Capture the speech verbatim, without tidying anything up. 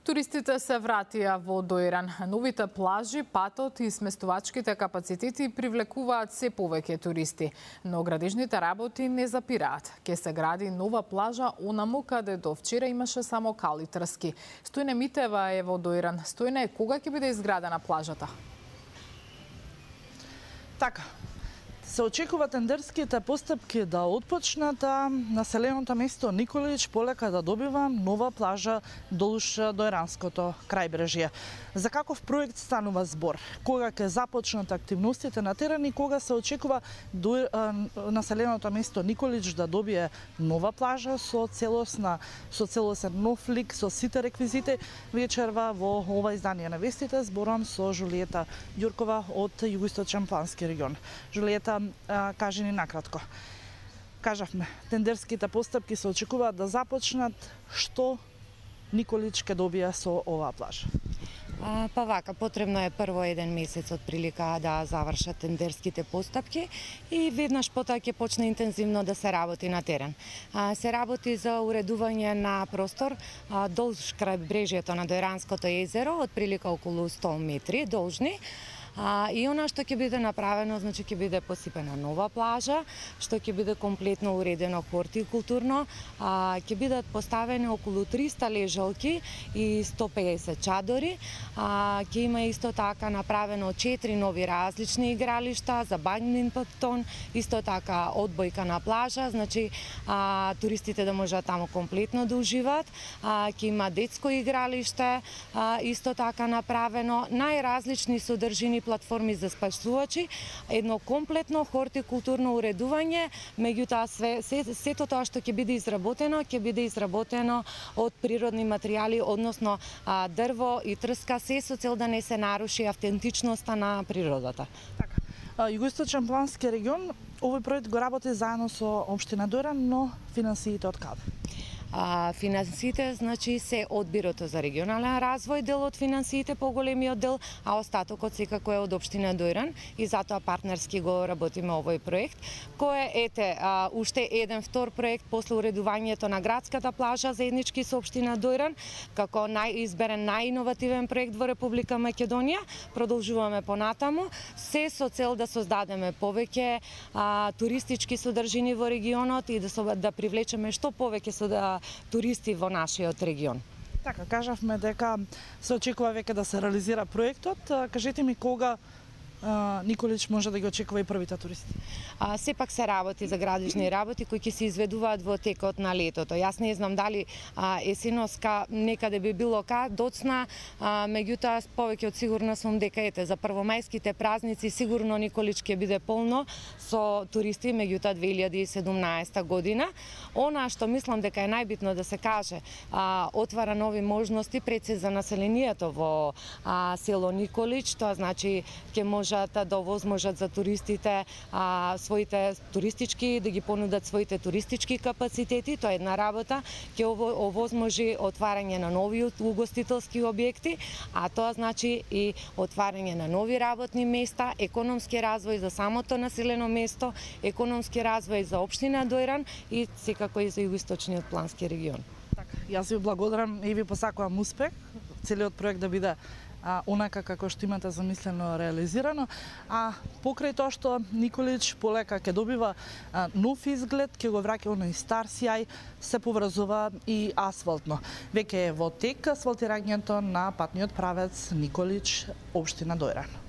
Туристите се вратија во Доиран. Новите плажи, патот и сместувачките капацитети привлекуваат се повеќе туристи, но градежните работи не запираат. Ке се гради нова плажа онаму каде до вчера имаше само кали трски. Стојне Митева е во Доиран. Стојне, кога ќе биде изградена плажата? Така. Се очекува тендерските постапки да отпочнат, а населеното место Николич полека да добива нова плажа долж Доиранското крајбрежје. За каков проект станува збор? Кога ќе започнат активностите на терен и кога се очекува до, а, населеното место Николич да добие нова плажа со целосна со целосен нов лик, со сите реквизити, вечерва во ова издание на вестите зборам со Жулиета Ѓуркова од Југоисточен плански регион. Жулиета, кажи ни накратко. Кажавме, тендерските постапки се очекуваат да започнат. Што Николич ќе добие со оваа плажа? А, па вака, потребно е прво еден месец од прилика да завршат тендерските постапки и веднаш потоа ќе почне интензивно да се работи на терен. А, се работи за уредување на простор а, долж крајбрежјето на Доиранското езеро, од прилика околу сто метри должни. А, и она што ќе биде направено, значи ќе биде посипена нова плажа, што ќе биде комплетно уредено хортикултурно, а, ќе бидат поставени околу триста лежалки и сто пеесет чадори, а, ќе има исто така направено четири нови различни игралишта за бадминтон, исто така одбојка на плажа, значи а, туристите да можат таму комплетно да уживаат, а, ќе има детско игралиште, а, исто така направено, најразлични содржини платформи за спасувачи, едно комплетно хортикултурно уредување, меѓутоа све, се, сето тоа што ќе биде изработено, ќе биде изработено од природни материјали, односно а, дрво и трска, се со цел да не се наруши автентичноста на природата. Така. Југоисточен плански регион, овој проект го работи заедно со општина Доиран, но финансиите од каде? А, финансиите, значи, се од Бирото за регионален развој, дел од финансиите, поголемиот дел, а остатокот секако е од општина Доиран и затоа партнерски го работиме овој проект, кој е, ете, а, уште еден втор проект после уредувањето на градската плажа заеднички со општина Доиран, како најизберен најиновативен проект во Република Македонија. Продолжуваме понатаму, се со цел да создадеме повеќе а, туристички содржини во регионот и да, со, да привлечеме што повеќе со да туристи во нашиот регион. Така, кажавме дека се очекува веќе да се реализира проектот. Кажете ми кога Николич може да ги очекува и првите туристи? А, сепак се работи за градежни работи кои ќе се изведуваат во текот на летото. Јас не знам дали а, есеноска некаде би било ка доцна, а, меѓутоа повеќе од сигурна сум дека ете за првомајските празници сигурно Николич ќе биде полно со туристи, меѓутоа две илјади и седумнаесета година. Она што мислам дека е најбитно да се каже, а, отвара нови можности пред се за населението во а, село Николич, тоа значи ќе може да овозможат за туристите а, своите туристички, да ги понудат своите туристички капацитети, тоа е една работа, ќе овозможи отварање на нови угостителски објекти, а тоа значи и отварање на нови работни места, економски развој за самото населено место, економски развој за општина Доиран и секако и за Југоисточниот плански регион. Така, јас ви благодарам и ви посакувам успех, целиот проект да биде А, онака како што имате замислено реализирано, а покрај тоа што Николич полека ќе добива а, нов изглед, ќе го враќа оној стар сјај, се поврзува и асфалтно. Веќе е во тек асфалтирањето на патниот правец Николич, општина Доиран.